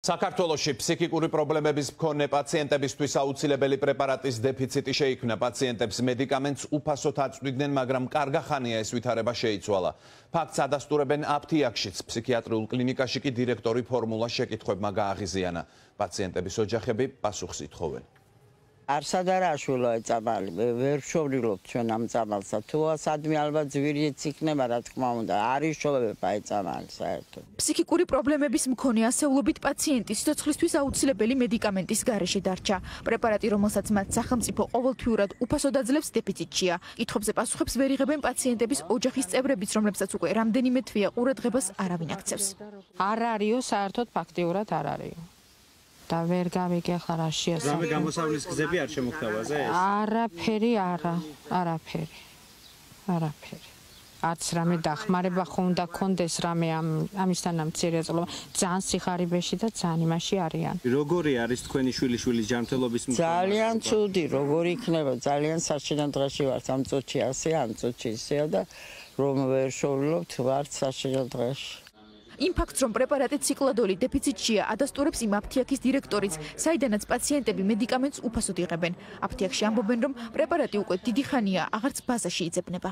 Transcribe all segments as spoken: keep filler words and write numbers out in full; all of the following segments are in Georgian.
საქართველოში ფსიქიკური პრობლემების მქონე პაციენტებისთვის აუცილებელი პრეპარატის დეფიციტი შეიქმნა. პაციენტებს მედიკამენტს უფასოდ აწვდიდნენ, მაგრამ კარგა ხანია ეს ვითარება შეიცვალა. ფაქტს ადასტურებენ აფთიაქშიც, ფსიქიატრიულ კლინიკაში კი დირექტორი ფორმულა შეკითხვებმა გააღიზიანა. პაციენტების ოჯახები პასუხს ითხოვენ. არსად არ აშვილო ეწამალი, ვერ შევრულობთ ჩვენ ამ წამალსა. თუ სადმე ალბათ ზვირიც იქნება, რა თქმა უნდა, არის შოვება ეწამალი საერთოდ. ფსიქიკური პრობლემების მქონე ასეულობით პაციენტი სიცოცხლისთვის აუცილებელი მედიკამენტის გარეშე დარჩა. პრეპარატი, რომელსაც მათ სახელმწიფო ყოველთვიურად უფასოდ აძლევს, დეფიციტშია. კითხვებზე პასუხებს ვერ იღებენ პაციენტების ოჯახის წევრებიც, რომლებსაც უკვე რამდენიმე თვეა ყურადღებას არავინ აქცევს. არ არისო, საერთოდ ფაქტიურად არ არისო. და ვერ გავიგე ახლა რა შეასრულა. რამე გამოსავლის გზები არ შემოგთავაზე ეს? არაფერი არა, არაფერი. არაფერი. არც რამე დახმარება ხო უნდა კონდეს რამე ამ ამისთან ამ ცირეწლობა. ძალიან სიხარიბეში და ძალიან იმაში არიან. როგორი არის თქვენი შვილიშვილის ჯანმრთელობის მდგომარეობა? ძალიან ცუდი, როგორი იქნება, ძალიან საშინელ დღეში ვართ, ამ წუთში ასე, ამ წუთში ისეა და რომ ვერ შევრულობთ, ვართ საშინელ დღეში. იმ ფაქტს, რომ პრეპარატი ციკლადოლი დეფიციტშია, ადასტურებს იმ აფთიაქის დირექტორიც, საიდანაც პაციენტები მედიკამენტს უფასოდ იღებენ. აფთიაქში ამბობენ, რომ პრეპარატი უკვე დიდი ხანია აღარც ბაზაში იძებნება.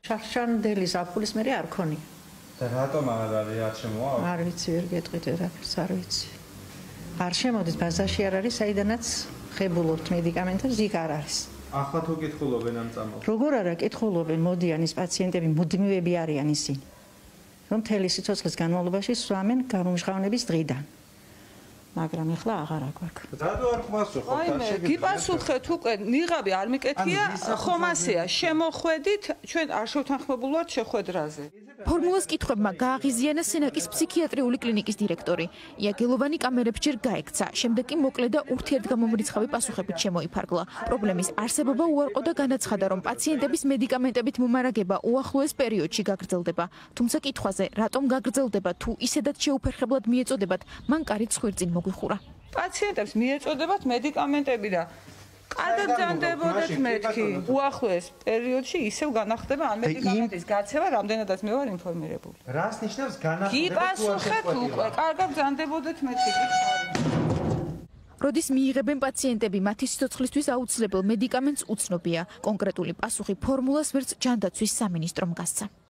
შახშანდელი ზაფხულის მერე არ ქონია. და რატომ არ არის არ შემოაქვს? არ ვიცი, ვერ გეტყვით ერაფერს, არ ვიცი. არ შემოდის ბაზაში არ არის, საიდანაც ხებულობთ მედიკამენტებს, იქ არ არის. ახლა თუ კითხულობენ ამ წამალს? როგორ არა კითხულობენ, მოდიან ის პაციენტები, მუდმივები არიან ისინი. რომ მთელი სიცოცხლის განმავლობაში სვამენ გარუმჟღავნების დღიდან. მაგრამ ეხლა აღარ აგვაქვს. რატო არ გვასუხობთ? აი, გიპასუხეთ უკვე, ნიღაბი არ მიკეთია, ხომ ასეა, შემოხვედით, ჩვენ არ შევთანხმებულ ვართ შეხვედრაზე. ფორმულას კითხვებმა გააღიზიანა სენაკის ფსიქიატრიული კლინიკის დირექტორი. იაგელოვანი კამერებს ჯერ გაექცა, შემდეგ კი მოკლე და ურთიერთგამომრიცხავი პასუხებით შემოიფარგლა. პრობლემის არსებობა უარყო და განაცხადა, რომ პაციენტების მედიკამენტებით მომარაგება უახლოეს პერიოდში გაგრძელდება. თუმცა კითხვაზე, რატომ გაგრძელდება, თუ ისედაც შეუფერხებლად მიეწოდებათ, მან კარით ხვირწინ მოგვიხურა. პაციენტებს მიეწოდებათ მედიკამენტები და კარგად გძანდებოდეთ მეთქი. უახლოეს პერიოდში ისევ განახდება ამ მედიკამენტის გაცემა, რამდენადაც მე ვარ ინფორმირებული. რას ნიშნავს განახდება? გიპასუხეთ უკვე, კარგად გძანდებოდეთ მეთქი. როდის მიიღებენ პაციენტები მათი სიცოცხლისთვის აუცილებელ მედიკამენტს უცნობია. კონკრეტული პასუხი ფორმულას ვერც ჯანდაცვის სამინისტრომ გასცა.